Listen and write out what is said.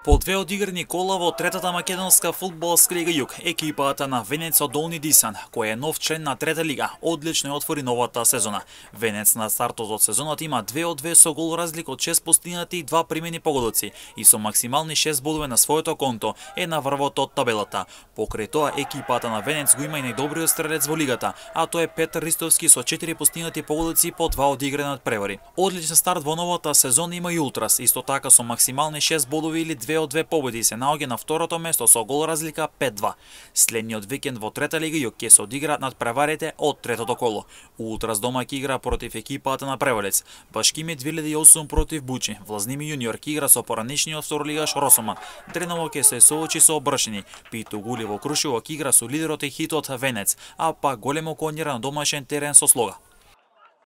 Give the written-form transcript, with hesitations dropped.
По две одиграни кола во третата македонска фудбалска лига Југ, екипата на Венец од Долни Дисан, кој е нов член на трета лига, одлично ја отвори новата сезона. Венец на стартот од сезоната има 2-2 со гол разлика од 6 постигнати и 2 примени погодоци и со максимални 6 бодови на своето конто е на врвот од табелата. Покрај тоа екипата на Венец го има и најдобриот стрелец во лигата, а тоа е Петар Ристовски со 4 постигнати погодоци по 2 одиграни надпревари. Одличен старт во новата сезона има и Ултрас, исто така со максимални 6 бодови или 2 од 2 победи се наоѓа на второто место со гол разлика 5-2. Следниот викенд во трета лига Југ ќе се одиграат надпреварите од третото коло. Ултрас дома ќе игра против екипата на Превалец. Башкимит 2008 против Бучи. Влазними јуниор ќе игра со поранешниот второлигаш Росоман. Дрenovo ќе се соочи со Бршини. Питу Гули во Крушево ќе игра со лидерот и хитот Венец, а пак големо конјера на домашен терен со Слога.